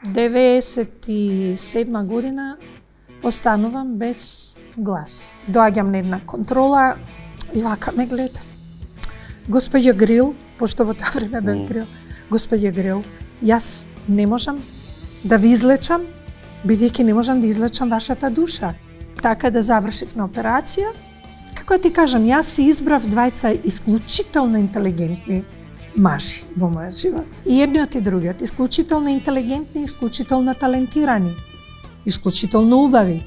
97 година останувам без глас. Доаѓам на една контрола и вака ме гледа. Господја Грил, пошто во тоа време бев Грил, господја Грил, јас не можам да ви излечам, бидејќи не можам да излечам вашата душа. Така да завршив на операција. Како ти кажам, јас си избрав двајца исклучително интелигентни мажи во мојот живот. И едниот и другиот, исклучително интелигентни, исклучително талентирани, исклучително убави.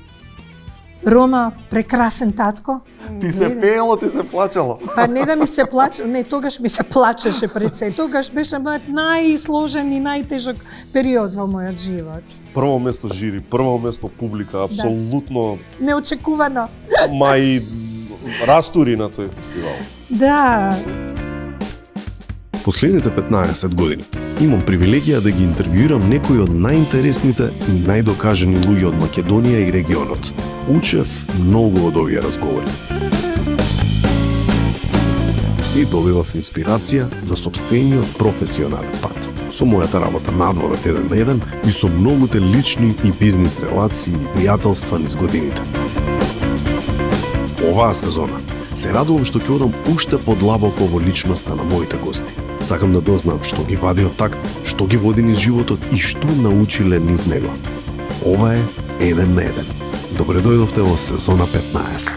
Рома, прекрасен татко. Ти се пеело, ти се плачало. Па не да ми се плаче, не, тогаш ми се плачеше пред се. Тогаш беше мојот најсложен и најтежок период во мојот живот. Прво место жири, прво место публика, апсолутно... Да. Неочекувано. Мај растури на тој фестивал. Да. Последните 15 години имам привилегија да ги интервјуирам некои од најинтересните и најдокажани луѓе од Македонија и регионот. Учев многу од овие разговори. И добивав инспирација за сопствениот професионален пат. Со мојата работа надвор од 1 на 1 и со многуте лични и бизнис релации и пријателства низ годините. Оваа сезона се радувам што ќе одам уште подлабоко во личноста на моите гости. Сакам да дознам што ги вади од такт, што ги води низ животот и што научиле низ него. Ова е 1 на 1. Добре дојдовте во сезона 15.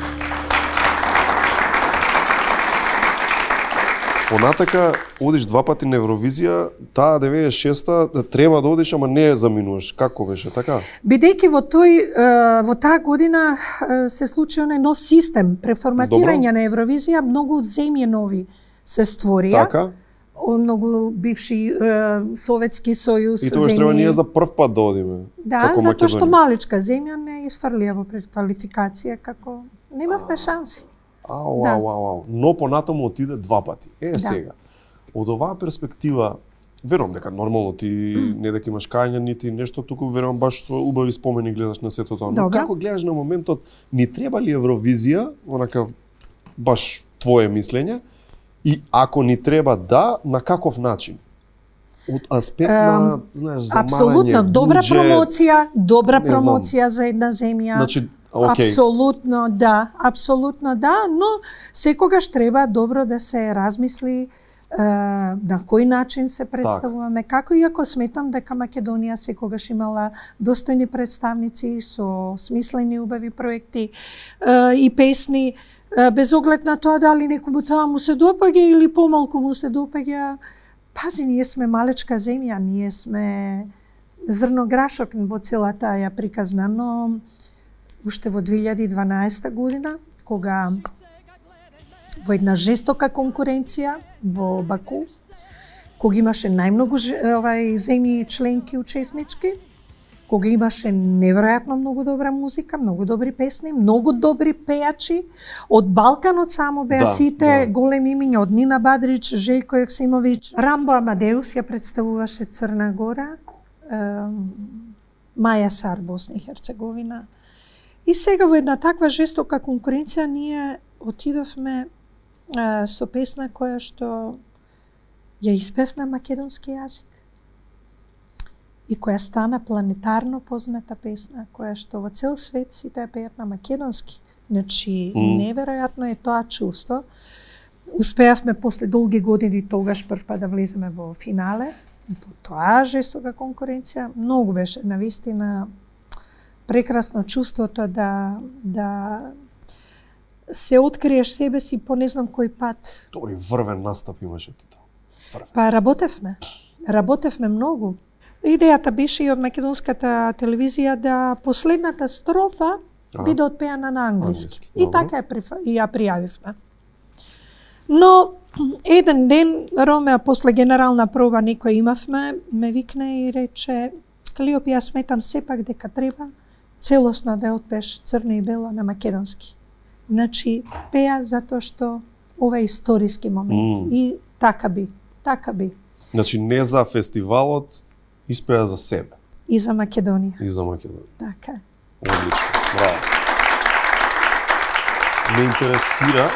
Понатака, одиш 2 пати на Евровизија, таа 96-та треба да одиш, ама не ја заминуваш. Како беше, така? Бидејќи во таа година се случи онај нов систем, преформатирање на Евровизија, многу земји нови се створија. Така? Многу бивши Советски сојуз земји. И тоа треба ние за прв пат да одиме. Да, затоа што маличка земја не изфрлија во предквалификација, како немавме шанси. Ау. Но понатаму отиде 2 пати. Сега. Од оваа перспектива, верувам дека нормално ти не дека имаш кања, нити нешто, туку верувам баш со убави спомени гледаш на сето тоа. Но како гледаш на моментот, ни треба ли Евровизија, онака баш твое мислење, и ако ни треба да, на каков начин? Од аспект на, знаеш, замарање, апсолутно, добра буџет, промоција за една земја. Значи, Апсолутно да, но секогаш треба добро да се размисли на кој начин се представуваме, како иако сметам дека Македонија секогаш имала достојни представници со смислени убави проекти и песни, без оглед на тоа дали некому тоа му се допаѓа или помалку му се допаѓа. Пази, ние сме малечка земја, ние сме зрно грашок во целата ја приказна, но уште во 2012 година, кога во една жестока конкуренција во Баку, кога имаше најмногу земји членки учеснички, кога имаше неверојатно многу добра музика, многу добри песни, многу добри пејачи, од Балканот само беа сите големи имиња, од Нина Бадрич, Желјко Јоксимовиќ, Рамбо Амадеус ја представуваше Црна Гора, Маја Сар, Босна и Херцеговина. И сега во една таква жестока конкуренција ние отидовме со песна која што ја испев на македонски јазик и која стана планетарно позната песна, која што во цел свет сите ја пеат на македонски. Значи, неверојатно е тоа чувство. Успеавме после долги години тогаш прв да влеземе во финале. Тоа жестока конкуренција многу беше навистина прекрасно чувството да се откриеш себе си по не знам кој пат. Добри, врвен настап имаше ти тоа. Па работевме многу. Идејата беше и од македонската телевизија да последната строфа биде отпеана на англиски. И така ја пријавивме. Но еден ден Ромео после генерална проба некој имавме, ме викне и рече: Клиоп, јас сметам сепак дека треба целосно да отпееш Црно и бело на македонски. Значи, пеа затоа што ова е историски момент. И така би. Значи, не за фестивалот, испеа за себе. И за Македонија. Така. Одлично, браво. Ме интересира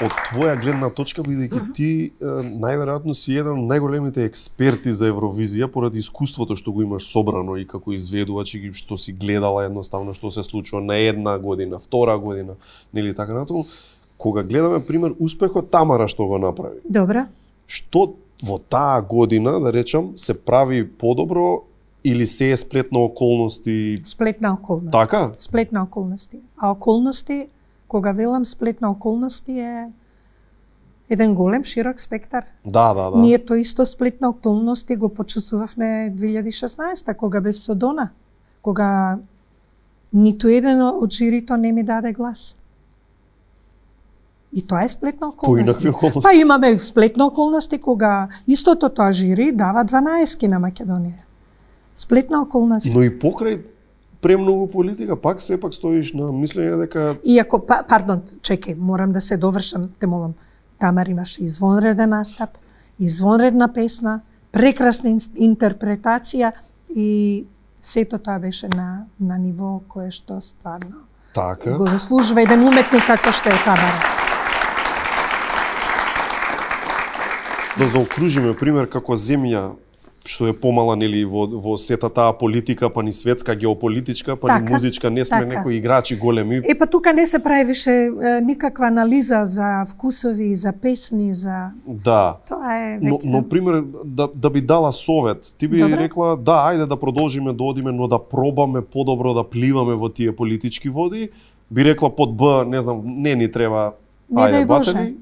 од твоја гледна точка, бидејќи ти најверојатно си еден од најголемите експерти за Евровизија поради искуството што го имаш собрано и како изведувач и што си гледала едноставно што се случува на една година, втора година, нели така натаму. Кога гледаме пример успехот Тамара што го направи. Добра. Што во таа година, да речам, се прави подобро или се е сплет на околности? Сплет на околности. Така? Сплет на околности. А околности, кога велам сплет на околности е еден голем, широк спектар. Да. Ние тој исто сплет на околности го почувствувавме 2016 кога бев со Дона. Кога ниту еден од жирито не ми даде глас. И тоа е сплетна околности. Поинакви околности. Па имаме сплетна околности кога истото тоа жири дава 12 на Македонија. Сплетна околности. Но и покрај премногу политика, пак сепак стоиш на мислење дека... Иако, пардон, чекај, морам да се довршам, те молам. Тамар имаше извонреден настап, извонредна песна, прекрасна интерпретација и сето тоа беше на ниво кое што стварно Така. го заслужува еден уметник како што е Тамара. Да заокружиме пример како земја што е помала нели во сета таа политика, па ни светска геополитичка, па ни музичка, не сме некои играчи големи. Па тука не се прави више никаква анализа за вкусови, за песни, за... Да. Тоа е веќе... Но пример, да би дала совет, ти би рекла, да, ајде да продолжиме да одиме, но да пробаме подобро да пливаме во тие политички води, би рекла под Б, не знам, не ни треба, ајде, батели.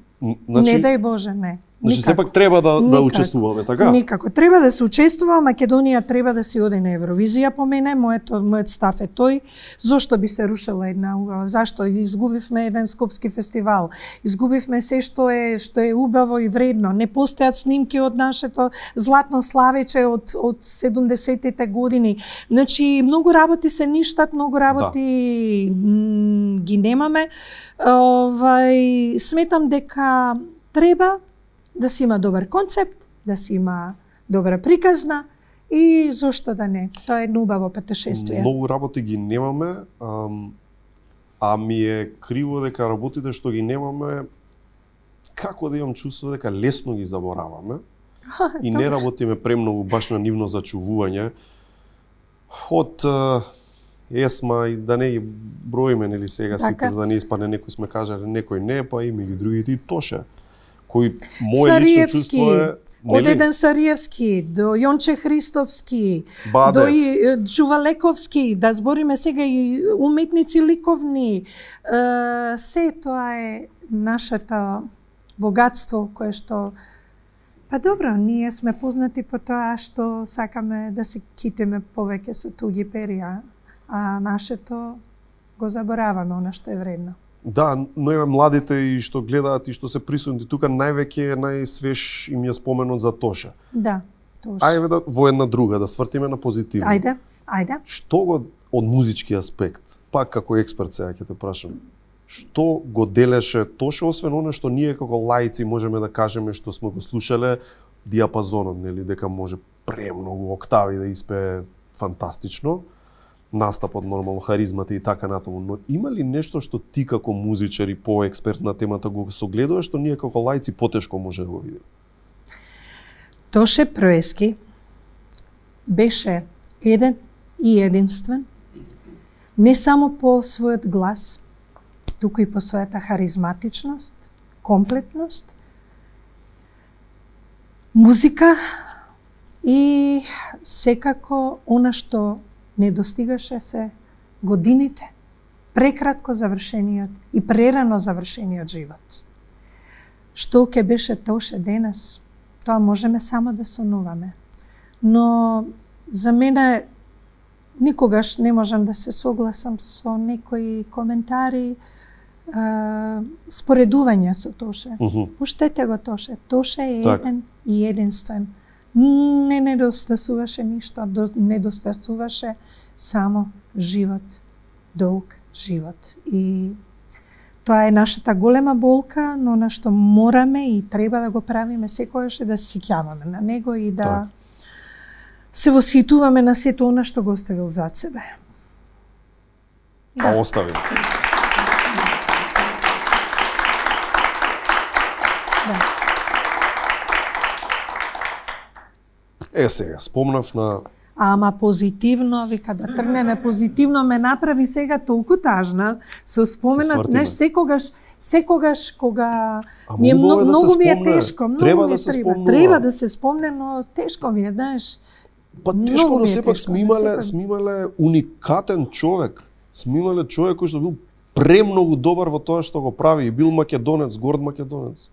Значи, не дај Боже, не. Значи, сепак треба да учествуваме, така? Никако. Треба да се учествува, Македонија треба да се оди на Евровизија по мене, мојот став е тој. Зошто би се рушила една убава? Зашто? Изгубивме еден скопски фестивал. Изгубивме се што е убаво и вредно. Не постојат снимки од нашето златно славече од 70-тите години. Значи, многу работи се ништат, многу работи ги немаме. Сметам дека треба да си има добар концепт, да си има добра приказна и зошто да не. Тоа е едно убаво патешествие. Многу работи ги немаме, а ми е криво дека работите што ги немаме, како да имам чувство дека лесно ги забораваме и не работиме премногу баш на нивно зачувување. Од ЕСМА и да не ги броиме, нели сега сите, за да не испадне некој сме кажале, некој не, па и меѓу другите и Тоше. Кој моје лично чувство е... Од еден Сариевски, до Јонче Христовски, до Джувалековски, да збориме сега и уметници ликовни. Се тоа е нашето богатство кое што... Па добро, ние сме познати по тоа што сакаме да се китиме повеќе со туѓи перија, а нашето го забораваме, она што е вредно. Да, но еве младите и што гледаат и што се присутни тука, највеќе најсвеж им е споменот за Тоша. Да, Тоша. Ајде да во една друга, да свртиме на позитивно. Ајде. Што го од музички аспект, пак како експерт сега ќе те прашам, што го делеше Тоша, освен оно што ние како лаици можеме да кажеме што сме го слушале, диапазонот, нели, дека може премногу октави да испее фантастично, настапот, нормално, харизмата и така натаму, но има ли нешто што ти како музичар и по-експерт на темата го согледуваш, што ние како лаици потешко може да го видиме? Тоше Проески беше еден и единствен, не само по својот глас, туку и по својата харизматичност, комплетност, музика и секако она што не достигаше се годините, прекратко завршениот и прерано завршениот живот. Што ќе беше Тоше денес, тоа можеме само да сонуваме. Но за мене никогаш не можам да се согласам со некои коментари, споредување со Тоше. Пуштете го Тоше. Тоше е еден и единствен. Не недостасуваше ништо, недостасуваше само живот, долг живот. И тоа е нашата голема болка, но на што мораме и треба да го правиме секогаш да се сеќаваме на него и да се восхитуваме на сето она што го оставил зад себе. Да оставил. сега, спомнав на... Ама позитивно, вика да тргнеме позитивно, ме направи сега толку тажна со споменат, знаеш, секогаш кога ми е многу ми е тешко, треба да се спомнува. Треба да се спомне, но тешко ми е, знаеш. Па тешко, но сепак сме имале уникатен човек. Сме имале човек кој што бил премногу добар во тоа што го прави и бил македонец, горд македонец.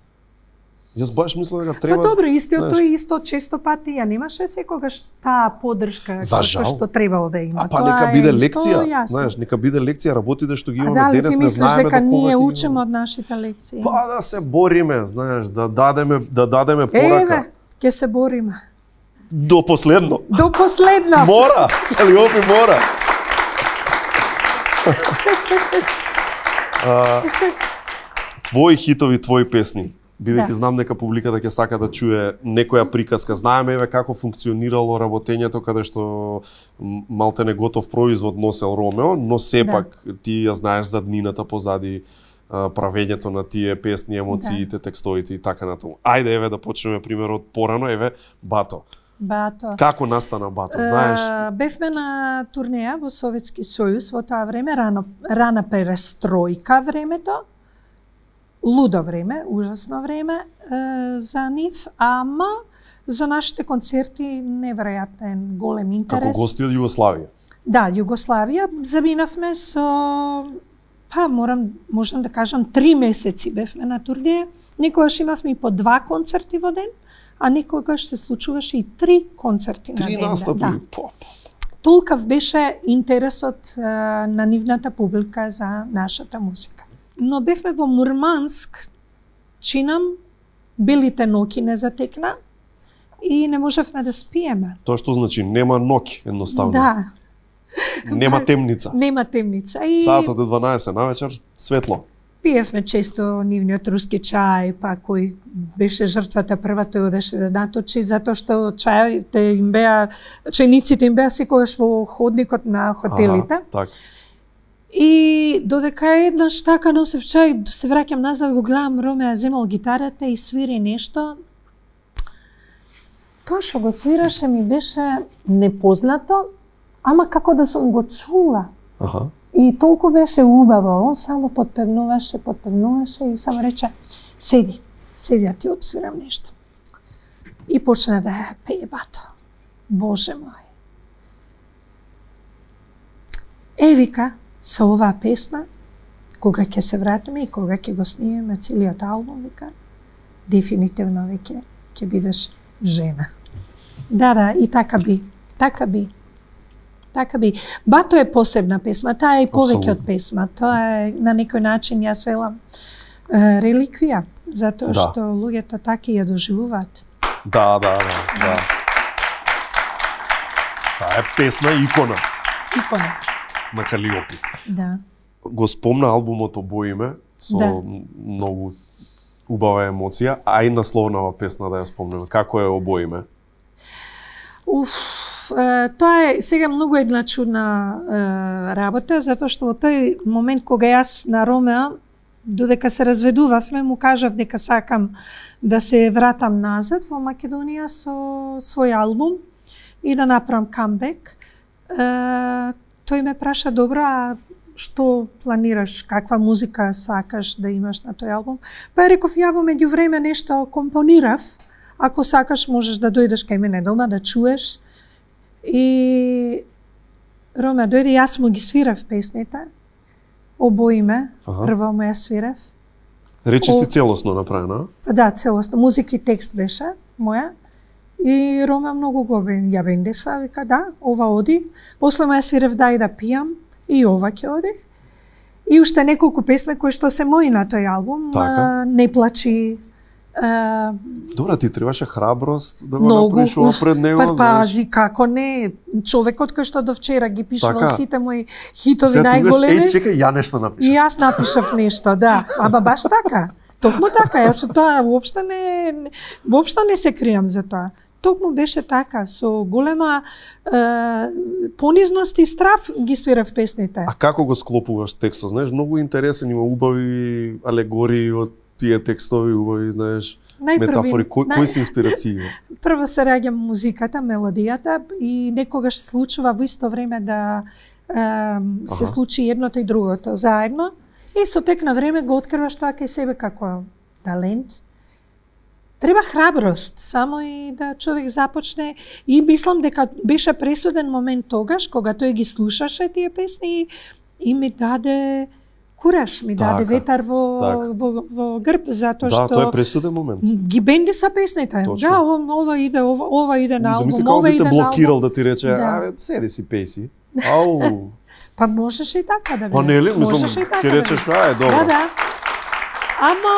Јас баш мислам дека треба... Па добро, тој исто често пати ја немаше секогаш таа поддршка што требало да има. Па нека биде лекција, знаеш, нека биде лекција, работите што ги имаме денес, не знаеме дека ние учиме од нашите лекции. Па да се бориме, знаеш, да дадеме порака. Еве, ќе се бориме. До последно. До последно. Мора, Калиопи мора. Твои хитови, твои песни. Бидејќи знам дека публиката ќе сака да чуе некоја приказка. Знаеме еве како функционирало работењето каде што малте не готов производ носел Ромео, но сепак ти ја знаеш заднината позади правењето на тие песни, емоциите, текстовите и така натаму. Ајде еве да почнеме примерот порано, еве Бато. Бато. Како настана Бато, знаеш? Бевме на турнеја во Советски сојуз во тоа време, рана перестројка времето. Лудо време, ужасно време за нив, ама за нашите концерти неверојатен голем интерес. Како гости од Југославија? Да, Југославија. Заминавме со, можам да кажам, 3 месеци бевме на турнеја. Некогаш имавме и по 2 концерти во ден, а некогаш се случуваше и 3 концерти на ден. 3 настапи? Да. Толкав беше интересот на нивната публика за нашата музика. Но бевме во Мурманск, чинам, белите ноќи не затекна и не можевме да спиеме. Тоа што значи нема ноќ, едноставно. Да. Нема темница. Нема темница. И саатот е 12 навечер, светло. Пиевме често нивниот руски чај, па кој беше жртвата прва, тој одеше да наточи, затоа што чајите им беа, чајниците им беа секогаш во ходникот на хотелите. Така. И додека еднаш така носев чај, се враќам назад, го гледам Ромеа земал гитарата и свири нешто. Тоа што го свираше ми беше непознато, ама како да сум го чула. И толку беше убаво, он само подпевнуваше и само рече, седи, ја ти отсвирам нешто. И почна да пее Бато. Боже мој. Вика, со оваа песна, кога ќе се вратиме и кога ќе го снимеме целиот албум, вика, дефинитивно веќе ќе бидеш жена. Да, и така би. Бато е посебна песма, таа е и повеќе од песма. Тоа е на некој начин, јас велам, реликвија, затоа што луѓето така ја доживуваат. Да. Таа е песна икона. На Калиопи. Да. Го спомна албумот Обоиме со многу убава емоција, а и насловнава песна да ја спомнеме. Како е Обоиме? Тоа е сега многу една чудна работа, затоа што во тој момент кога јас на Ромео, додека се разведувавме, му кажав дека сакам да се вратам назад во Македонија со свој албум и да направам камбек. Тој ме праша, добро, а што планираш, каква музика сакаш да имаш на тој албум? Па реков, ја во меѓувреме нешто компонирав, ако сакаш можеш да дојдеш кај мене дома да чуеш. И Роме дојде, јас му ги свирав песните, Обоиме, прво му ја свирав. Речи си целосно направена? Да, целосно, музика и текст беше моја. И Роме многу го ја бендеса, вика да, ова оди. После му ја свирав да и да пијам, и ова ќе оди. И уште неколку песме кои што се мои на тој албум, Не плачи. Добра, ти требаше храброст да го направиш ова пред него, знаеш. Пази, како не, човекот кој што до вчера ги пишувал сите мои хитови најголеми. Чекај, ја нешто напишав. И јас напишав нешто, да. Ама баш така. Токму така, јас со тоа воопшто не се кријам за тоа. Токму беше така, со голема понизност и страф ги свирав песните. А како го склопуваш текстот? Знаеш, многу интересен, има убави алегории од тие текстови, убави, знаеш. метафори, кои се инспирации? Прво се раѓа музиката, мелодијата и некогаш се случува во исто време да се случи едното и другото заедно. И со тек на време го откриваш тоа кај себе како талент. Треба храброст, само и да човек започне. И мислам дека беше пресуден момент тогаш, кога тој ги слушаше тие песни и ми даде кураж, ми даде ветар во грб, затоа што... Да, тоа е пресуден момент. Ги бенди са песните. Точно. Да, ова иде на албум, Замисли како би те блокирал да ти рече, седи си песи. Ау. Па можеше и така да биде. Па нели, мислам, ќе речеш, добро. Да. Ама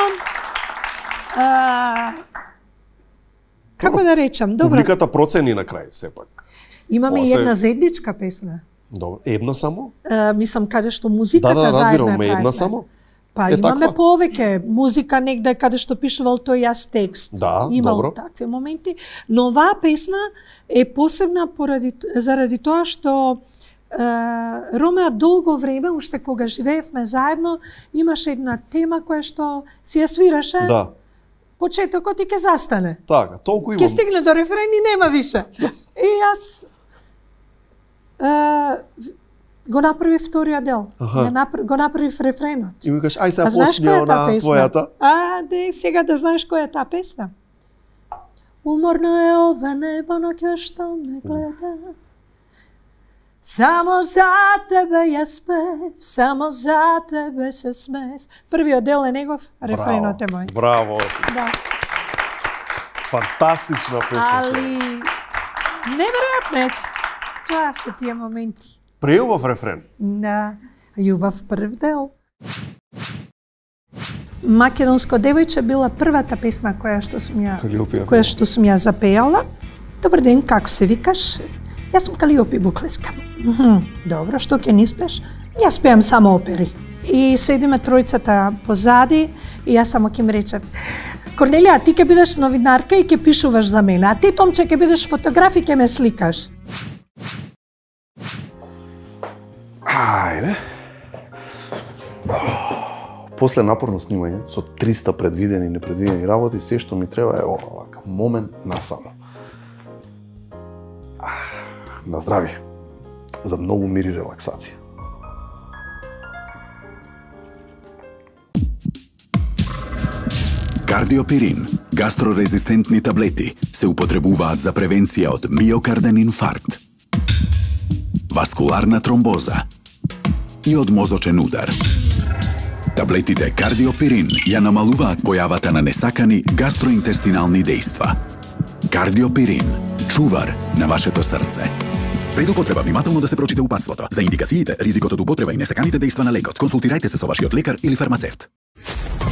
како да речам, добро. Публиката процени на крај сепак. Имаме и една заедничка песна. Добро, една само? Мислам каде што музиката заедно разбирам, една само. Па имаме повеќе музика негде каде што пишувал тој јас текст. Да, имал добро. Такви моменти, но оваа песна е посебна заради тоа што Ромеа долго време, уште кога живеевме заедно, имаше една тема која што си ја свираше. Да. Почетокот и ќе застане. Така, толку имам. Ќе стигне до рефрен и нема више. И јас го направи вториот дел. Го направи рефренот. И ми кажеш, ај сега почни на твојата. Сега да знаеш која е таа песна. Уморно е ова небо, но ќе што ме гледа. Само за тебе јас пев, само за тебе се смев. Првиот дел е негов, рефренот е мој. Браво. Да. Фантастична песна. Али неверојатно е. Тоа се тие моменти. Преубав рефрен. Да, љубав прв дел. Македонско девојче била првата песма која што сум ја запејала. Добар ден, како се викаш? Јас сум Калиопи Буклеска. Добро, што ќе ни спеш? Јас пеам само опери. И седиме тројцата позади и јас само ќе ми речев: Корнелија, ти ќе бидеш новинарка и ќе пишуваш за мене, а ти, Томче, ќе бидеш фотограф и ќе ме сликаш. Ајде. После напорно снимање, со 300 предвидени и непредвидени работи, се што ми треба е овака, момент насамо. На здравје. За многу мир и релаксација. Кардиопирин, гастрорезистентни таблети, се употребуваат за превенција од миокарден инфаркт, васкуларна тромбоза и од мозочен удар. Таблетите Кардиопирин ја намалуваат појавата на несакани гастроинтестинални дејства. Кардиопирин, чувар на вашето срце. Пред употреба внимателно да се прочита упатството. За индикациите, ризикот од употреба и несаканите дејства на лекот, консултирајте се со вашиот лекар или фармацевт.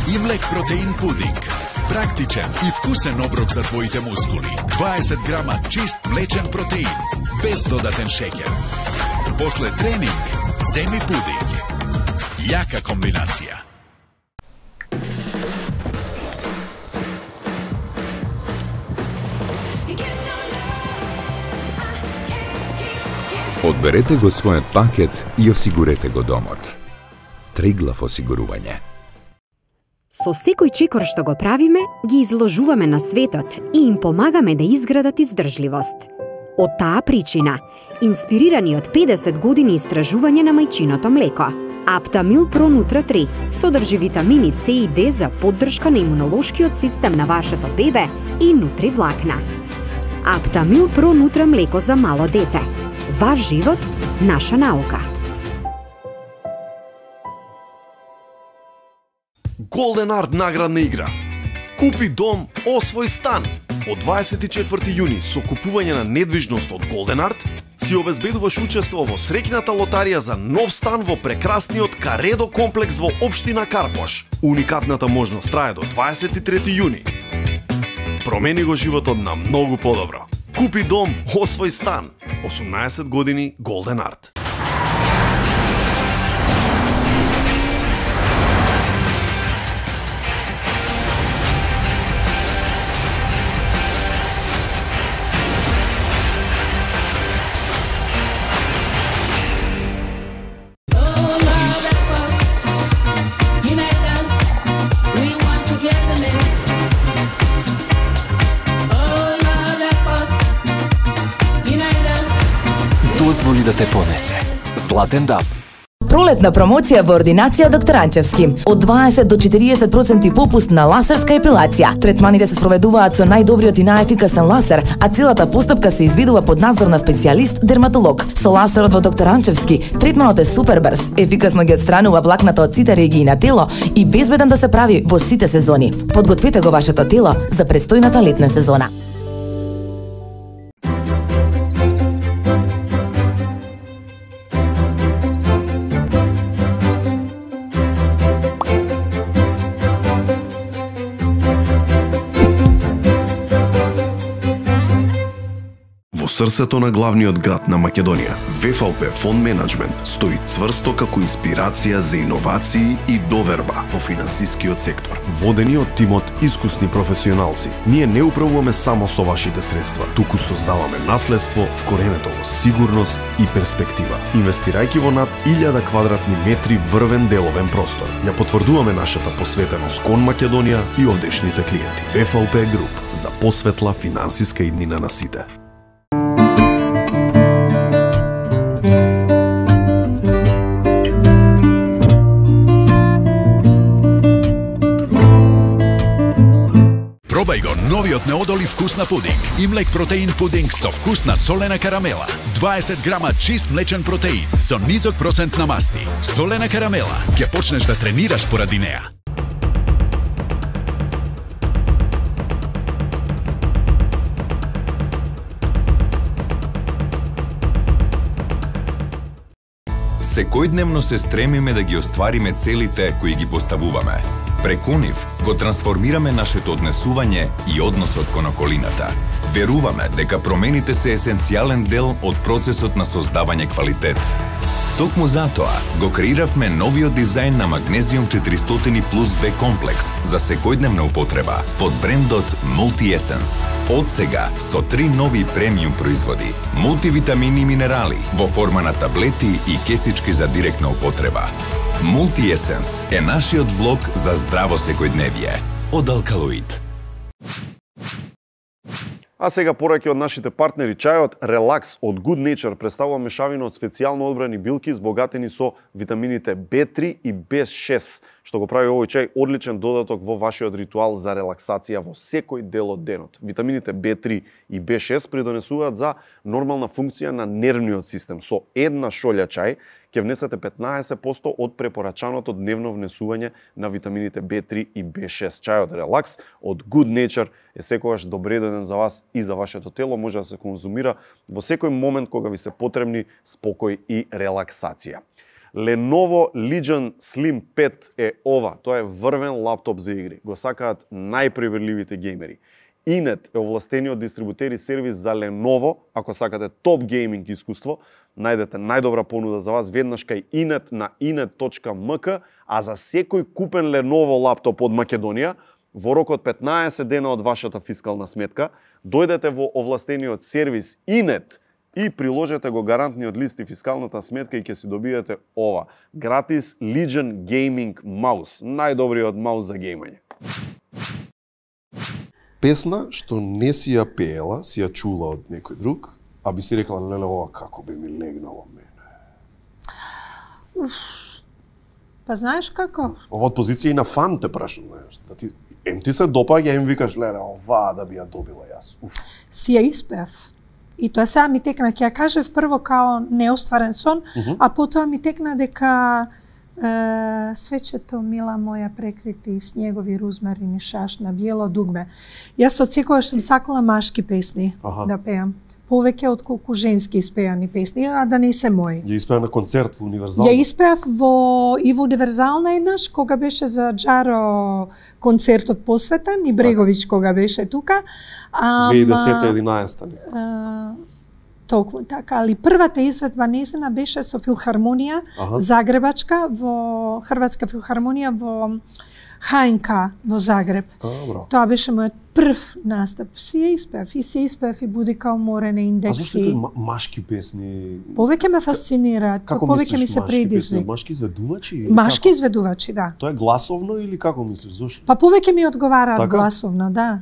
Имлек протеин пудинг. Практичен и вкусен оброк за твоите мускули. 20 грама чист млечен протеин, без додатен шеќер. После тренинг, земи пудинг. Јака комбинација. Одберете го својот пакет и осигурете го домот. Триглав осигурување. Со секој чекор што го правиме, ги изложуваме на светот и им помагаме да изградат издржливост. Од таа причина, инспирирани од 50 години истражување на мајчиното млеко, Аптамил Про Нутра 3 содржи витамини С и Д за поддршка на имунолошкиот систем на вашето бебе и нутривлакна. Аптамил Про Нутра млеко за мало дете. Ваш живот, наша наука. Голден Арт наградна игра. Купи дом, освој стан. Од 24 јуни со купување на недвижност од Голден Арт си обезбедуваш учество во среќната лотарија за нов стан во прекрасниот Каредо комплекс во општина Карпош. Уникатната можност трае до 23 јуни. Промени го животот на многу подобро. Купи дом, освој стан. 18 години Голден Арт. дозволи да те понесе. Златен даб. Пролетна промоција во ординација доктор Анчевски. Од 20 до 40% попуст на ласерска епилација. Третманите се спроведуваат со најдобриот и најефикасен ласер, а целата постапка се изведува под надзор на специјалист дерматолог. Со ласерот во доктор Анчевски, третманот е супер брз, ефикасно ги отстранува влакната од сите регии на тело и безбеден да се прави во сите сезони. Подгответе го вашето тело за престојната летна сезона. Срцето на главниот град на Македонија, ВФЛП Фонд Менеджмент стои цврсто како инспирација за иновации и доверба во финансискиот сектор. Водени од тимот искусни професионалци, ние не управуваме само со вашите средства, туку создаваме наследство вкоренето во сигурност и перспектива. Инвестирајќи во над 1000 квадратни метри врвен деловен простор, ја потврдуваме нашата посветеност кон Македонија и овдешните клиенти. ВФЛП Груп за посветла финансиска иднина на сите. Пробај го новиот неодолив вкус на пудинг. Имлек протеин пудинг со вкус на солена карамела. 20 грама чист млечен протеин со низок процент на масти. Солена карамела. Ќе почнеш да тренираш поради неа. Секојдневно се стремиме да ги оствариме целите кои ги поставуваме. Преку нив го трансформираме нашето однесување и односот кон околината. Веруваме дека промените се есенцијален дел од процесот на создавање квалитет. Токму затоа го креиравме новиот дизајн на Magnesium 400 Plus B комплекс за секојдневна употреба под брендот Multi Essence. Од сега со 3 нови премиум производи, мултивитамини и минерали во форма на таблети и кесички за директна употреба. Multi Essence е нашиот влог за здраво секојдневие од Алкалоид. А сега пораки од нашите партнери, чајот Relax од Good Nature представува мешавина од специјално одбрани билки збогатени со витамините B3 и B6, што го прави овој чај одличен додаток во вашиот ритуал за релаксација во секој дел од денот. Витамините B3 и B6 придонесуваат за нормална функција на нервниот систем. Со една шолја чај ќе внесете 15% од препорачаното дневно внесување на витамините B3 и B6. Чајот Relax од Good Nature е секогаш добредоден за вас и за вашето тело. Може да се конзумира во секој момент кога ви се потребни спокој и релаксација. Lenovo Legion Slim 5 е ова. Тоа е врвен лаптоп за игри. Го сакаат најпреверливите геймери. Inet е овластениот дистрибутер и сервис за Lenovo. Ако сакате топ гейминг искуство, најдете најдобра понуда за вас веднаш кај Inet на inet.mk, а за секој купен Lenovo лаптоп од Македонија, во рок од 15 дена од вашата фискална сметка, дојдете во овластениот сервис Inet и приложете го гарантниот лист и фискалната сметка и ќе си добиете ова. Гратис Legion Gaming Mouse. Најдобриот маус за геймање. Песна што не си ја пеела, си ја чула од некој друг, а би си рекла, леле, ова како би ми легнало мене. Па знаеш како? Ова од позиција и на фан те прашам, знаеш, да ти ти се допаѓа, им викаш, леле, ова да би ја добила јас. Си ја испев. И тоа сега ми текна, ќе ја кажев прво као неостварен сон, а потоа ми текна дека свечето мила моја прекрити снегови рузмарини шаш на биело дугме. Јас од секогаш сум сакала машки песни да пеам. Повеќе отколку женски испеани песни, а да не се мои. Ја испеа на концерт во Универзална? Ја испеав и во Универзална еднаш, кога беше за Джаро концертот посветен, и Бреговиќ кога беше тука. 2010-11. Толку така, али првата изведба незина беше со филхармонија Загребачка, во Хрватска филхармонија во ХНК во Загреб. Тоа беше мојот прв настап. Си ја испеав и Будика уморена индекси. А зашто тој машки песни? Повеќе ме фасцинираат, повеќе ми се предизвик. Машки изведувачи? Машки изведувачи, да. Тоа е гласовно или како мислиш? Зошто? Па повеќе ми одговараат гласовно, да.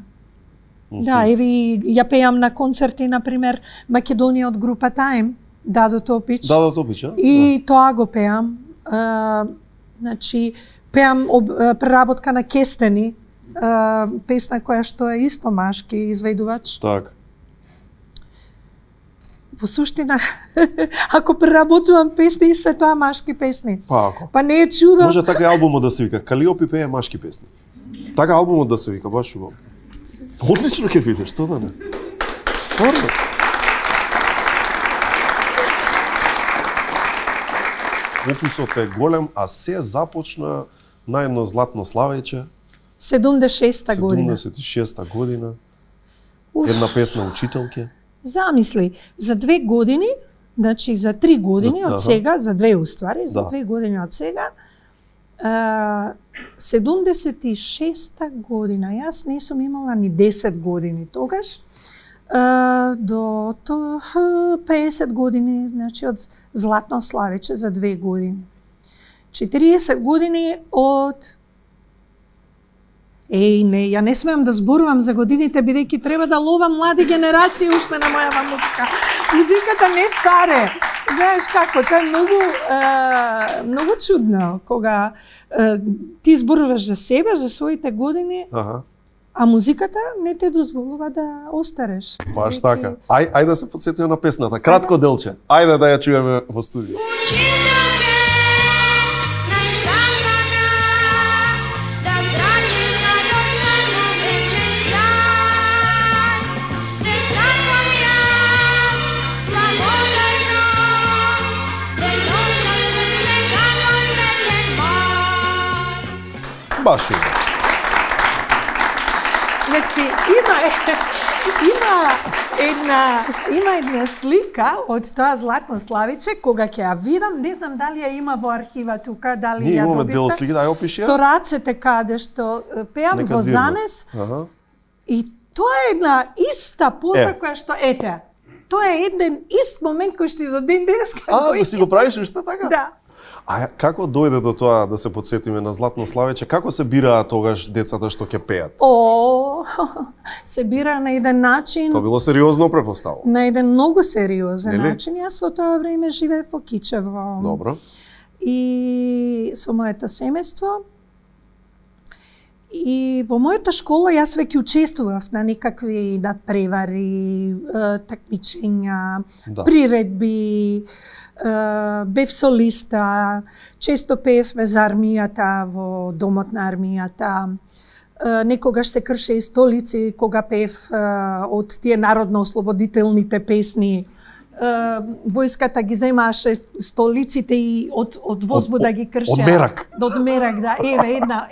Да, еви ја пеам на концерти, например, Македонија од група Time, Дадо Топич. Дадо Топич, а? И тоа го пеам. Значи, пеам преработка на Кестени, песна која што е исто машки изведувач. Так. Во суштина, ако преработувам песни, се тоа машки песни. Па ако. Па не е чудо. Може така и албумот да се вика Калиопи пее машки песни. Така албумот да се вика, баш убаво. Одлично ќе видиш, што да не. Стварно. Опусот е голем, а се започна на едно златно славеќе. 76-та година. 76-та година. Една песна учителке. Замисли, за 2 години, значи за 3 години од сега, за 2 уствари, за 2 години од сега, 76-та година, јас не сум имала ни 10 години тогаш, до 50 години, значи од златно славеќе за 2 години. 40 години од не, ја не смеам да зборувам за годините, бидејќи треба да ловам млади генерации уште на мојава музика. Музиката не старе. Знаеш како, тоа е многу чудно, кога ти зборуваш за себе, за своите години, а музиката не те дозволува да остареш. Баш така. Ајде да се потсетиме на песната. Кратко делче. Ајде да ја чуеме во студио. Баш Значи, има една слика од тоа златно славиче, кога ќе ја видам, не знам дали ја има во архива тука, дали ние ја имаме добивте. дел слики, да ја опиши. Со рацете каде што пеам во Занес. И тоа е една иста поза која што ете. Тоа е еден ист момент кој што и за ден денеска. Да си го правиш уште така? Да. А како дојде до тоа да се потсетиме на златно славеќе? Како се бираа тогаш децата што ќе пеат? Се бира на еден начин. Тоа било сериозно препоставо. На еден многу сериозен начин. Јас во тоа време живеев во Кичево. Добро. И со моето семејство. И во мојата школа јас веќе учествував на некакви надпревари, такмичења, приредби, бев солиста, често пеевме за армијата во домот на армијата. Некогаш се крше и столици кога пеев од тие народно-ослободителните песни. Војската ги земаше столиците и од возбуда ги кршеа. Од мерак. Од мерак, да.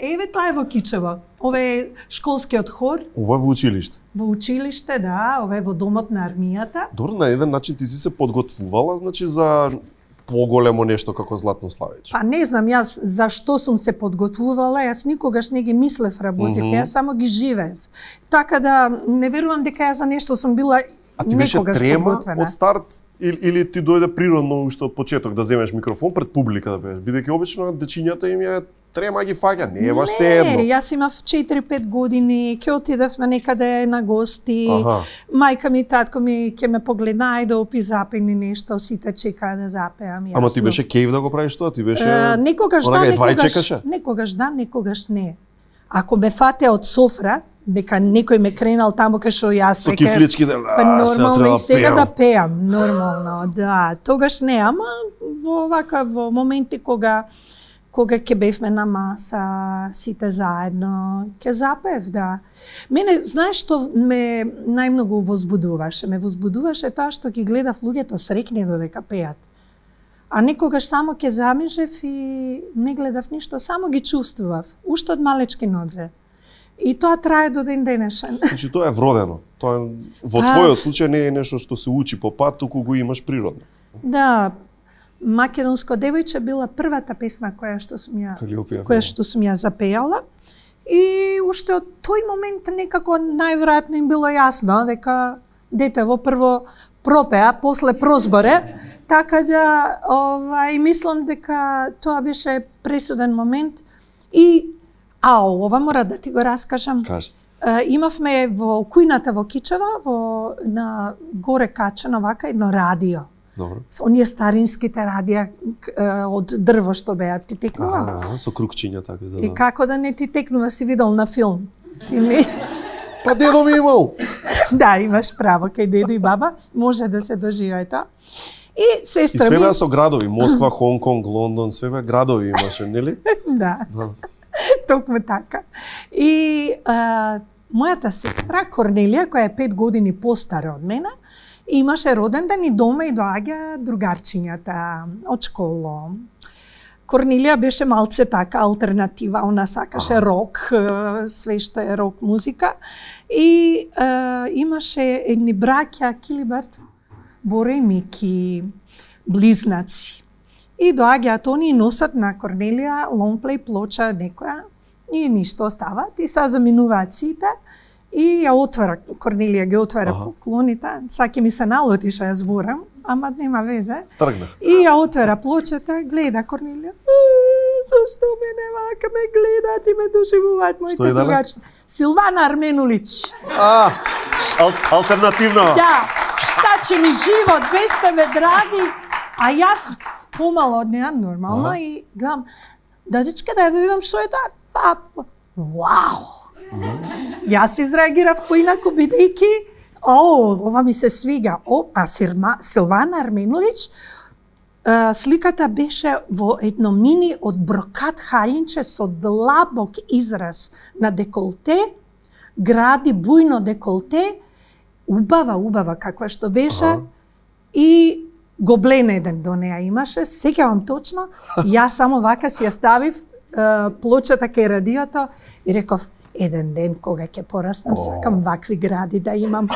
Еве тоа е во Кичево. Ова е школскиот хор. Ова е во училиште. Во училиште, да. Ова е во домот на армијата. Добро, на еден начин ти си се подготвувала, значи за поголемо нешто како златно славење. Па не знам јас зашто сум се подготвувала, јас никогаш не ги мислев работите, јас само ги живеев. Така да не верувам дека ја за нешто сум била. А ти беше трема од старт или ти дојде природно уште од почеток да земеш микрофон пред публика да пееш? Бидејќи обично дечињата им ја трема ги фаќа, не е баш се едно. Не, јас имав 4-5 години, ќе отидевме некаде на гости. Мајка ми и татко ми ќе ме погледна, ајде опи запени нешто, сите чекаа да запеам. Јасно. Ама ти беше кејф да го правиш тоа? Ти беше некогаш да, некогаш не. Ако ме фате од софра, дека некој ме кренал таму кај што јас со кифлички нормално и сега да пеам, нормално, да. Тогаш не, ама во моменти кога ќе бевме на маса, сите заедно, ќе запеев, да. Мене, знаеш што ме најмногу возбудуваше? Ме возбудуваше тоа што ги гледав луѓето срекни додека пеат. А некогаш само ќе замижев и не гледав ништо, само ги чувствував, уште од малечки нозе. И тоа трае до ден денешен. Значи тоа е вродено. Тоа во твојот случај не е нешто што се учи по пат, туку го имаш природно. Да, Македонско девојче била првата песна која што сум ја запејала. И уште од тој момент некако најверојатно им било јасно дека детево прво пропеа, после прозборе. Така да, мислам дека тоа беше пресуден момент. И ова мора да ти го раскажам. Кажи. Имавме во кујната во Кичево, на горе качено вака едно радио. Добро. Оние старинските радија од дрво што беа, ти текнува? Со крукчиња така за. И како да не ти текнува, си видел на филм. Ти не... Па дедо ми имал. Да, имаш право, кај дедо и баба може да се доживее тоа. И сестра ми... И све беа со градови, Москва, Хонг Конг, Лондон, све беа градови имаше, нели? Да. Токму така. И мојата сестра Корнелија, која е 5 години постара од мене, имаше роден ден и дома и доаѓа другарчињата од школа. Корнелија беше малце така алтернатива, она сакаше рок, све што е рок музика. И имаше едни браќа, Килиберт, Боре и Мики, близнаци. И доаѓаат они и носат на Корнелија лонгплей плоча некоја и ништо остават и са заминуваат сите и ја отвара, Корнелија ги отвара поклоните, саки ми се налоти што ја зборам, ама нема везе. Тргна. И ја отвара плочата, гледа Корнелија. Зашто мене вака ме гледаат и ме доживуваат моите другачи? Силвана Арменулич. Алтернативна. Да, шта че ми живот, ве сте ме драги, а јас помало од неа нормално и гледам, дадичке да ја видам што е тоа. Вау! Јас изреагирав поинаку бидејќи ова ми се свига. Силвана Арменулич, сликата беше во едно мини од брокат халинче со длабок израз на деколте, гради бујно деколте, убава каква што беше и гоблен еден до неа имаше, сеќавам точно, јас само вака си ја ставив плочата кај радиото и реков, еден ден кога ќе пораснам, сакам вакви гради да имам.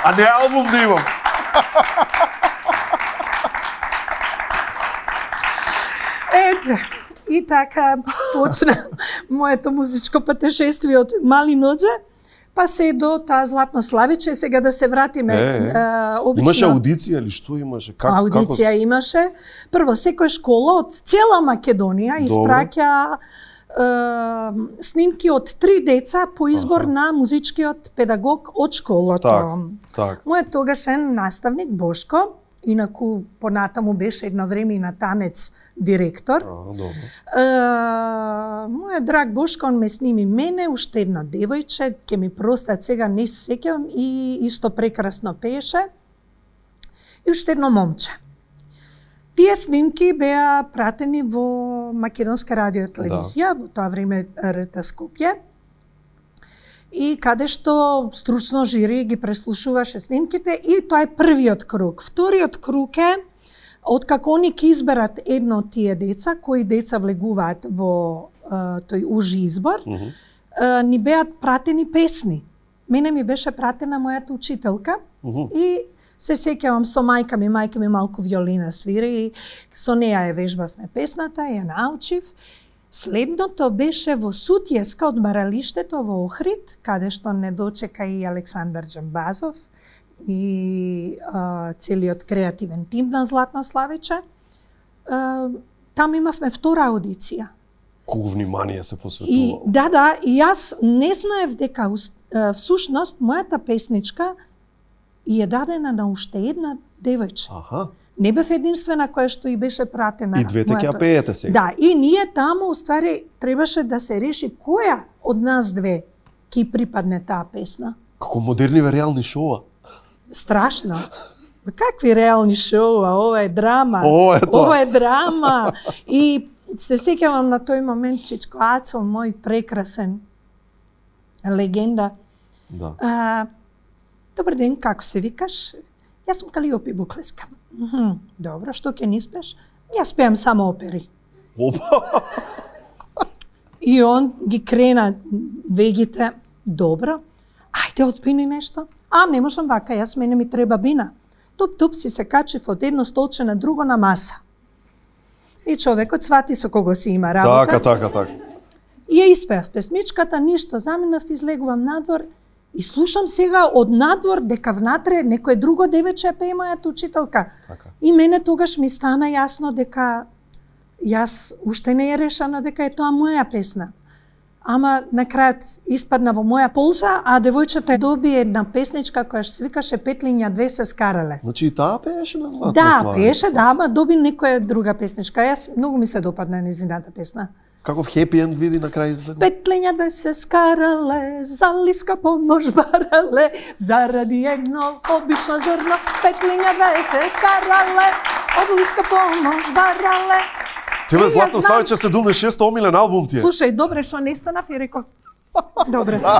А не албум да имам. Ете, и така почна моето музичко патешествие од мали нозе, па се до таа Златно Славиче, сега да се вратиме. Обично... Имаше аудиција или што имаше? Аудиција имаше. Прво, секоја школа од цела Македонија испраќа снимки од 3 деца по избор на музичкиот педагог од школата. Мојот тогашен наставник Бошко, инаку понатаму беше едно време и на танец директор. Мојот драг Бошко, он ме сними мене, уште едно девојче, ќе ми простат сега, не се сеќавам, и исто прекрасно пееше, и уште едно момче. Тие снимки беа пратени во Македонска радио и телевизија, во тоа време РТ Скопје, и каде што стручно жири ги преслушуваше снимките, и тоа е првиот круг. Вториот круг е, откако они ќе изберат едно од тие деца, кои деца влегуваат во тој ужи избор, ни беат пратени песни. Мене ми беше пратена мојата учителка и се сеќавам со мајка ми малку виолина свири и со неа ја вежбавме песната, ја научив. Следното беше во Сутјеска од баралиштето во Охрид, каде што не дочека и Александар Џамбазов и целиот креативен тим на Златно Славиче. Там имавме втора аудиција. Колку внимание се посветува. Да, и јас не знаев дека всушност мојата песничка и е дадена на уште една девојче. Не бев единствена која што и беше пратена. И двете ќе ја пеете сега. Да, и ние таму уствари требаше да се реши која од нас две ќе припадне таа песна. Како модерни реални шоуа. Страшно. Какви реални шоуа? Ова е драма. Ова е драма. И се сеќавам на тој момент, Чичко Ацо, мој прекрасен легенда. Добар ден, како се викаш? Јас сум Калиопи Буклеска. Добро, што ќе ни спеш? Јас пеам само опери. И он ги крена вегите. Добро, ајде отпини нешто. Не можам вака, мене ми треба бина. Туп си се качив од едно столче на друго на маса. И човекот свати со кого си има работа. Така. И ја испеав песничката, ништо, заминав, излегувам надвор и слушам сега од надвор дека внатре некој друго девече пее мојата учителка. И мене тогаш ми стана јасно дека јас уште не е решено дека е тоа моја песна. ама на крајот испадна во моја полза, а девојчето доби една песничка која се викаше Петлиња две се скарале. Значи и таа пееше на Златно Да, славе. пееше, да, ама доби некоја друга песничка. Јас многу ми се допадна незината песна. Каков хепи енд види на крај излегол? Петлиња две се скарале, за лиска помош барале, заради едно обично зрно. Петлиња две се скарале, од лиска помош барале. Тебе Златно Славиче 76 омилен албум ти е. Слушај, добре што не станав и реков. Добре. Да.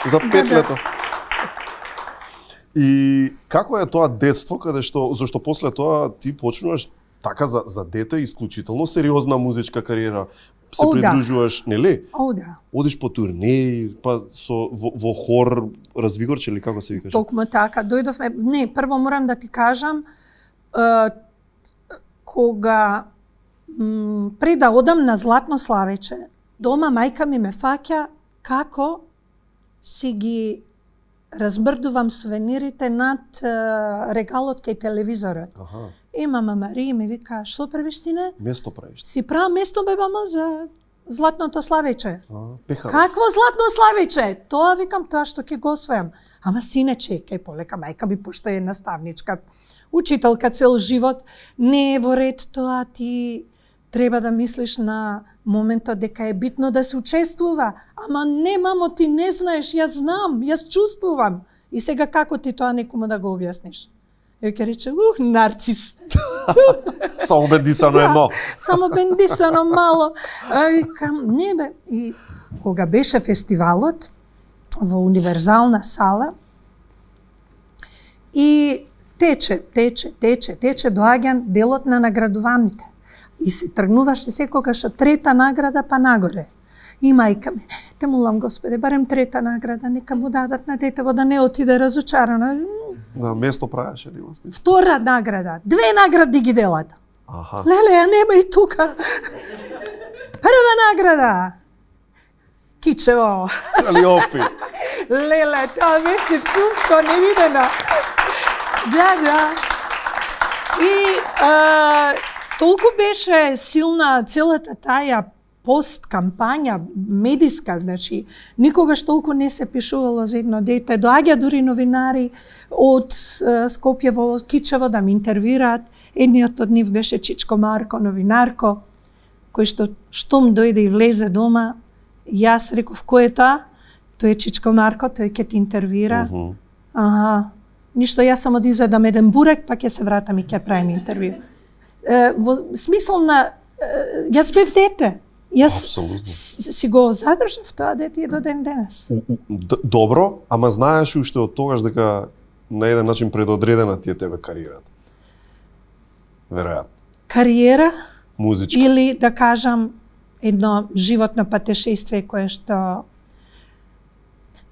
За 5 лето. И како е тоа детство каде што зашто после тоа ти почнуваш така за дете исклучително сериозна музичка кариера, се придружуваш, нели? Да. Одиш по турнеи, па во хор Развигорче или како се викаш? Токму така, дојдовме, не, прво морам да ти кажам, кога пред да одам на Златно Славече, дома мајка ми ме фаќа како си ги размрдувам сувенирите над регалот кај телевизорот. И мама Марија ми вика, што правиш сине? Место правиш. Си правам место бе мама за Златното Славече. Пехаров. Какво Златно Славече? Тоа викам, тоа што ќе го освојам. Ама сине чекај, полека мајка би пошто е наставничка, учителка цел живот, не е во ред тоа, ти треба да мислиш на моментот дека е битно да се учествува. Ама не, мамо, ти не знаеш, јас знам, јас чувствувам. И сега како ти тоа некому да го објасниш? Ја ќе рече, нарцис. Само бендисано едно. Само бендисано мало. Викам, не бе. И кога беше фестивалот во Универзална сала, и тече, доаѓа делот на наградуваните. И се тргнуваше секогаш од трета награда па нагоре. И мајка ми, те молам Господе, барем трета награда, нека му дадат на детево да не отиде разочарано. На место правеше ли во смисла? Втора награда, 2 награди ги делат. Аха. Леле, ја нема и тука. Прва награда. Кичево. Али опи. Леле, тоа беше чувство невидено. Да. И толку беше силна целата таја пост-кампања медиска, значи, никогаш толку не се пишувало за едно дете. Доаѓа дури новинари од Скопје во Кичево да ме интервјураат. Едниот од нив беше Чичко Марко, новинарко, кој штом дојде и влезе дома, јас реков, кој е тоа? Тој е Чичко Марко, тој ќе те интервјуира. Ништо, јас само да изедам еден бурек, па ќе се вратам и ќе правим интервју. Во смисол на, јас бев дете. Јас си го задржав тоа дете и до ден денес. Добро, ама знаеш уште од тогаш дека на еден начин предодредена ти е тебе кариерата? Веројатно. Кариера? Музичка? Или да кажам едно животно патешествие кое што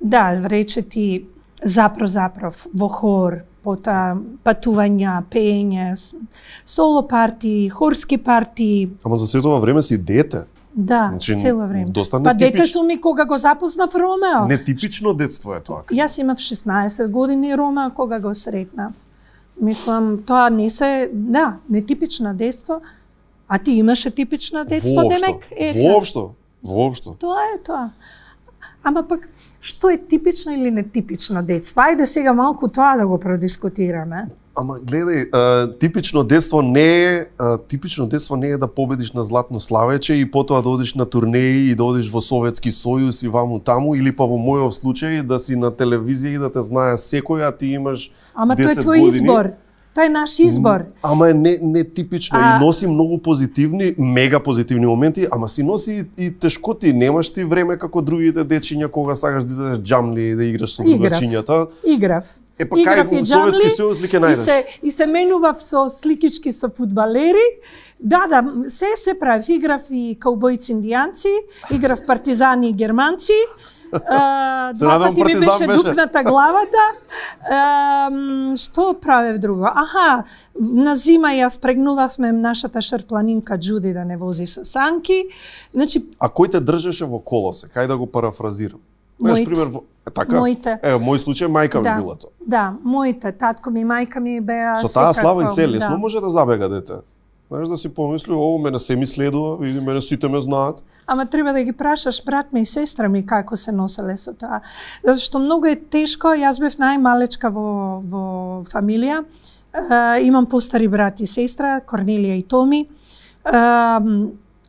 да, рече ти запров во хор, потоа патувања, пеење, соло партии, хорски партии. Ама за сето ова време си дете. Да, значи, цело време. Доста па дете сум и кога го запознав Ромео. Нетипично детство е тоа. Јас имав 16 години Ромео кога го сретнав. Мислам, тоа не се, да, нетипично детство. А ти имаше типично детство, демек? Воопшто. Тоа е тоа. Ама пак, што е типично или нетипично детство? Ајде сега малку тоа да го продискутираме. Ама гледај, типично детство не е да победиш на Златно Славече и потоа да одиш на турнеи и да одиш во Советски Сојуз и ваму таму, или па во мојов случај да си на телевизија и да те знае секој, а ти имаш 10 години. Ама тоа е твој избор. Тоа е наш избор. Ама е нетипично и носи многу позитивни, мега позитивни моменти, ама си носи и тешкоти. Немаш ти време како другите дечиња кога сакаш да идеш џамли и да играш со другачињата. Играв. Па кај во Советски Сојуз ли ќе најдеш? И се менував со сликички со фудбалери. Да, се правив. Играв и каубојци индијанци, играв партизани и германци. Два пати ми беше дупната главата. Што правев друго? На зима ја впрегнувавме нашата шрпланинка Џуди да не вози со санки. Значи, а кој те држеше во колосе? Кај да го парафразирам? Моите. Така? Моите. Мој случај мајка ми била тоа. Да, моите, татко ми и мајка ми беа со таа слава и се лесно може да забега дете. Знаеш, да си помисли, ово мене се ми следува, види, мене сите ме знаат. Ама треба да ги прашаш брат ми и сестра ми како се носеле со тоа. Затоа што многу е тешко, јас бев најмалечка во фамилија. Имам постари брат и сестра, Корнелија и Томи.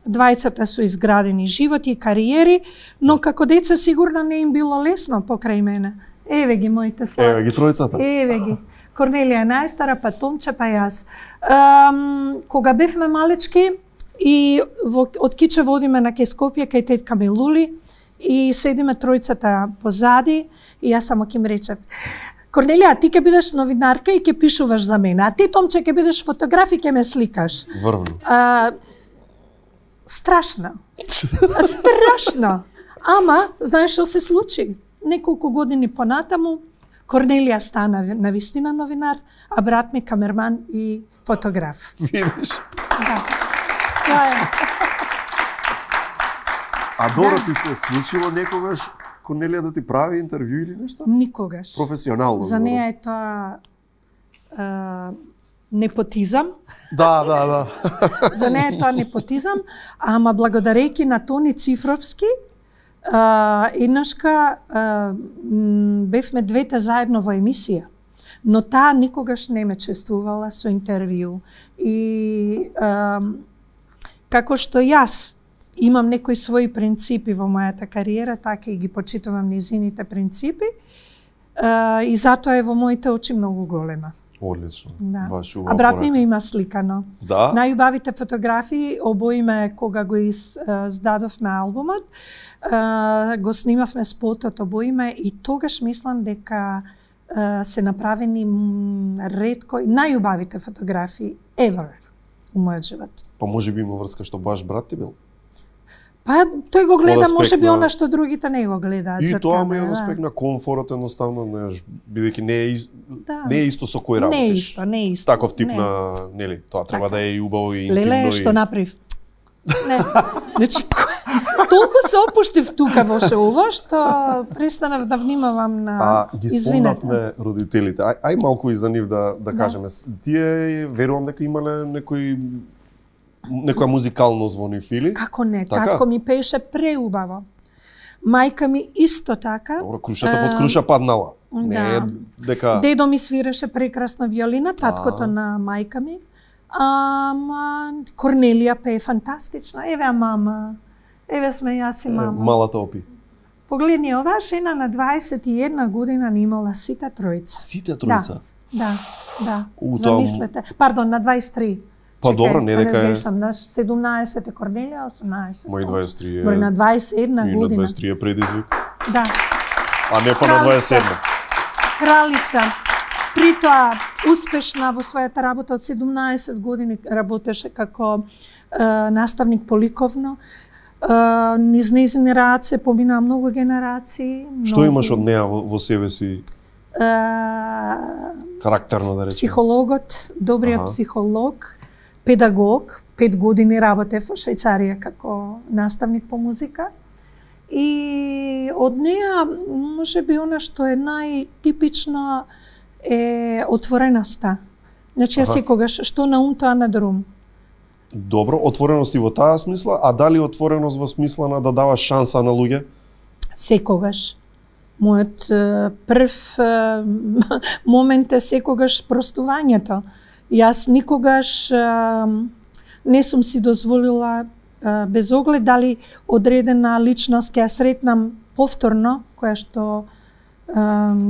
Двајцата со изградени животи и кариери, но како деца сигурно не им било лесно покрај мене. Еве ги моите слави. Еве ги тројцата. Еве ги. Корнелија најстара, па Томче, па јас. Кога бевме малечки и од Киче водиме на кај Скопје, кај тетка ми Лули, и седиме тројцата позади, и јас само ќе им речев: Корнелија, ти ќе бидеш новинарка и ќе пишуваш за мене, а ти, Томче, ќе бидеш фотограф и ќе ме сликаш. Врвно. Страшно. Страшно. Ама, знаеш што се случи? Неколку години понатаму, Корнелија стана навистина новинар, а брат ми камерман и фотограф. Видиш? Да. Тоа е. А добро ти се случило некогаш Корнелија да ти прави интервју или нешто? Никогаш. Професионално. За неја е тоа непотизам. Да. За неја е тоа непотизам, ама благодарејќи на Тони Цифровски, еднашка бевме двете заедно во емисија, но таа никогаш не ме чествувала со интервју. И како што јас имам некои своји принципи во мојата кариера, така и ги почитувам низините принципи, и затоа е во моите очи многу голема. Одлично. Да. Баш убава А брат порака. ми има сликано. Да? Најубавите фотографии обоиме кога го издадовме албумот, го снимавме спотот обоиме и тогаш мислам дека се направени ретко најубавите фотографии ever у мојот живот. Па може би има врска што баш брат ти бил? Па тој го гледа Од аспект може би на- она што другите не го гледаат. И за тоа ме камера, од аспект на комфорот едноставно, знаеш, бидејќи Да. не е исто со кој Не е работиш. исто, не е исто. Таков тип Не. на, нели, тоа треба Така. да е и убаво и интимно. Леле, што направив? Не. Значи, толку се опуштив тука во шоуво, што престанав да внимавам на... ги Извинете. спомнавме родителите. Ај малку и за нив да кажеме. Тие верувам дека имале некоја музикалност во нив или? Како не, Така? татко ми пееше преубаво. Мајка ми исто така. Добро, крушата под круша паднала. Не е Да. дека... Дедо ми свиреше прекрасна виолина, таткото на мајка ми. Ама Корнелија пее фантастично. Еве мама. Еве сме јас и мама. Малата опи. Погледни, оваа жена на 21 година не имала сите тројца. Сите тројца? Да. Тоа- Замислете. Пардон, на 23. Па добро, не дека е... Грешам, на 17 е Корнелија, 18. Мој 23 е... Мој на 21 И на година. 23 е предизвик. Да. А не па на 27. Кралица. Притоа успешна во својата работа, од 17 години работеше како наставник по ликовно. Низ нејзини раце поминаа многу генерации. Што имаш од неа во себе си многу. карактерно да речем? Психологот, добриот психолог, педагог, 5 години работев во Швајцарија како наставник по музика. И од неа, може би, она што е најтипично е отвореноста. Значи, јас секогаш, што на ум, тоа на друм. Добро, отвореност и во таа смисла, а дали отвореност во смисла на да даваш шанса на луѓе? Секогаш. Мојот прв момент е секогаш простувањето. Јас никогаш не сум си дозволила, без оглед дали одредена личност ќе ја сретнам повторно, која што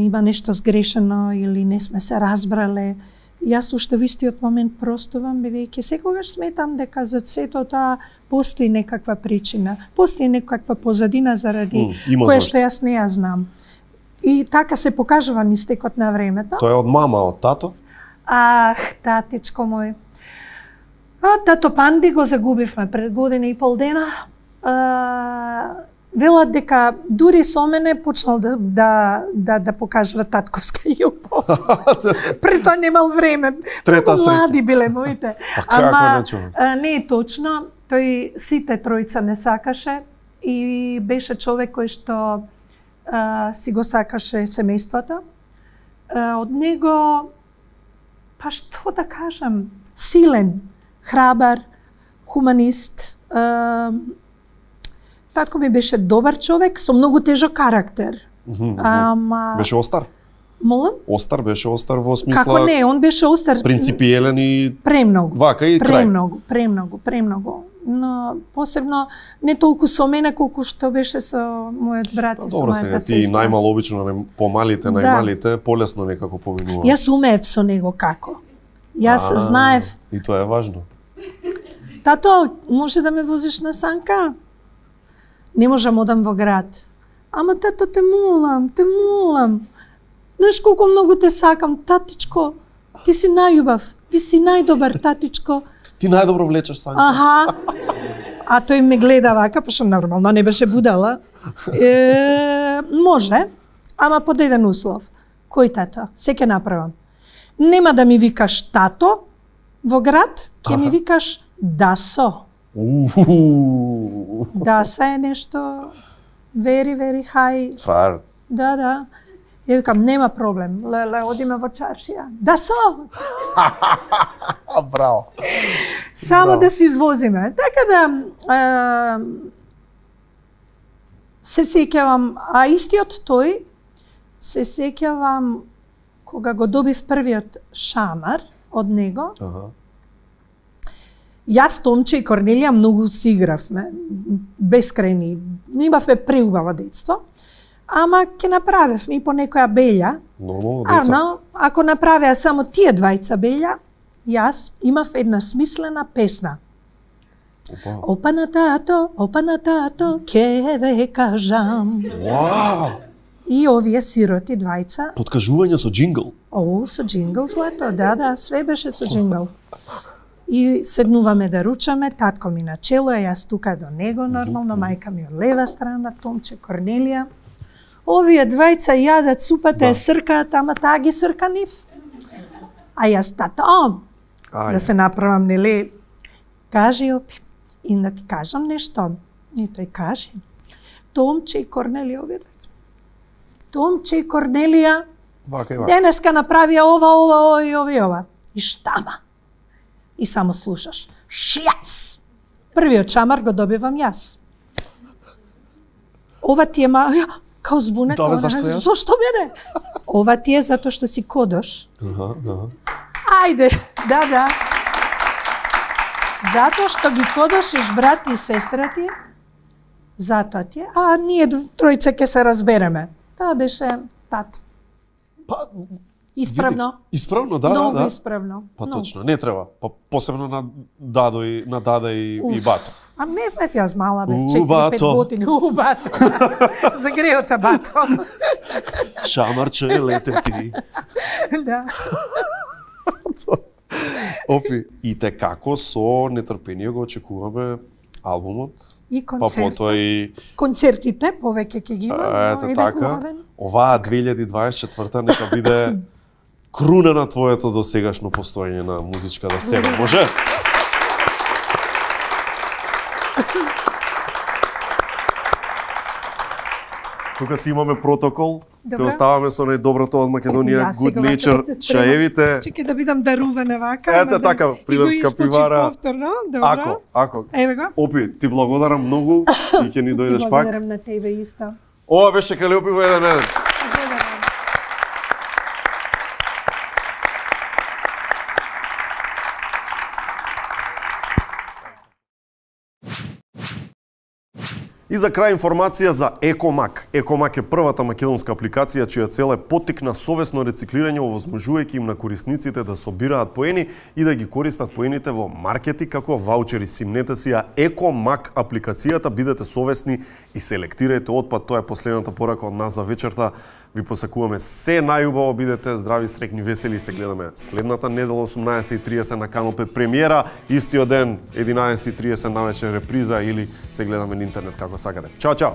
има нешто сгрешено или не сме се разбрале. Јас уште во истиот момент простувам, бидејќи секогаш сметам дека за сето тоа постои некаква причина, постои некаква позадина заради која што јас не ја знам. И така се покажува низ текот на времето. Тоа е од мама, од тато? Татичко мој. Тато Панди го загубивме пред година и пол дена. Велат дека дури со мене почнал да покажува татковска љубов. Пред тоа немал време. Трета Многу млади среќа. биле моите. Ама не е точно. Тој сите тројца не сакаше и беше човек кој што си го сакаше семејството. Од него, па што да кажам, силен, храбар, хуманист. Татко ми беше добар човек со многу тежок карактер. Беше остар? Молам? Остар беше остар во смисла... Како не, он беше остар. Принципиелен и... Премногу. Вака и крај. Премногу. Но посебно не толку со мене колку што беше со мојот брат и со добро, мојата сестра. Ти најмало обично помалите, најмалите, полесно некако поминува. Јас умеев со него како. Јас знаев. И тоа е важно. Тато, може да ме возиш на санка? Не можам одам во град. Ама тато, те молам. Знаеш колку многу те сакам, татичко. Ти си најубав, ти си најдобар, татичко. Ти најдобро влечеш санка. Аха. А тој ме гледа вака, пошто нормално не беше будала. Може, ама под еден услов. Кој тато? Се ќе направам. Нема да ми викаш тато во град, ќе ми викаш Дасо. Даса е нешто very high. Фраер. Да. Ја викам, нема проблем. Леле, одиме во чаршија. Дасо! Браво. Само да се извозиме. Така да се сеќавам, а истиот тој се сеќавам кога го добив првиот шамар од него. Јас, Томче и Корнелија многу си игравме, бескрајни. Имавме преубаво детство. Ама ќе направевме и по некоја белја. Нормално деца. Ако направеа само тие двајца белја, јас имав една смислена песна. Опа на тато, ќе ве кажам. Вау! И овие сироти двајца. Подкажување со джингл. Со джингл злато, да, све беше со джингл. И седнуваме да ручаме, татко ми на чело, јас тука до него нормално, мајка ми од лева страна, Томче, Корнелија. Овие двајца јадат супата, ја сркаат, ама таа ги срка нив. А јас тато, да се направам, нели, кажи опи, и да ти кажам нешто. И тој кажи, Томче и Корнелија, овие двајца. Томче и Корнелија, денеска направија ова. И штама. И само слушаш. Шјац! Првиот шамар го добивам јас. Ова ти е као збунет. Зошто мене? Ова ти е затоа што си кодош. Ајде, да. Затоа што ги кодошиш брат и сестра ти, затоа ти е. А ние тројца ќе се разбереме. Тоа беше тато. Исправно. Исправно, да. Многу исправно. Па точно, не треба. Посебно на Дада и Бато. А не знаев јас мала бев 4-5 години. Бато. Загреота Бато. Шамарче лете ти. Да. Опи, и те како со нетрпение го очекуваме албумот. И концерт. Па потоа и концертите повеќе ќе ги има. Ете така. Оваа 2024 нека биде круна на твоето досегашно постоење на музичката сцена. Може? Тука си имаме протокол. Те оставаме со најдоброто од Македонија, Good Nature, чаевите. Чекај да бидам дарувана вака. Ете така, Прилепска пивара. Ако. Еве го. Опи, ти благодарам многу и ќе ни дојдеш пак. Благодарам на тебе исто. Ова беше Калиопиво 1-1. И за крај информација за Екомак. Екомак е првата македонска апликација чија цел е поттик на совесно рециклирање, овозможувајќи им на корисниците да собираат поени и да ги користат поените во маркети како ваучери. Симнете си ја Екомак апликацијата, бидете совесни и селектирајте отпад. Тоа е последната порака од нас за вечерта. Ви посакуваме се најубаво, бидете здрави, среќни, весели и се гледаме следната недела 18:30 на Канал 5 премиера, истиот ден 11:30 навечер реприза или се гледаме на интернет како сакате. Чао, чао!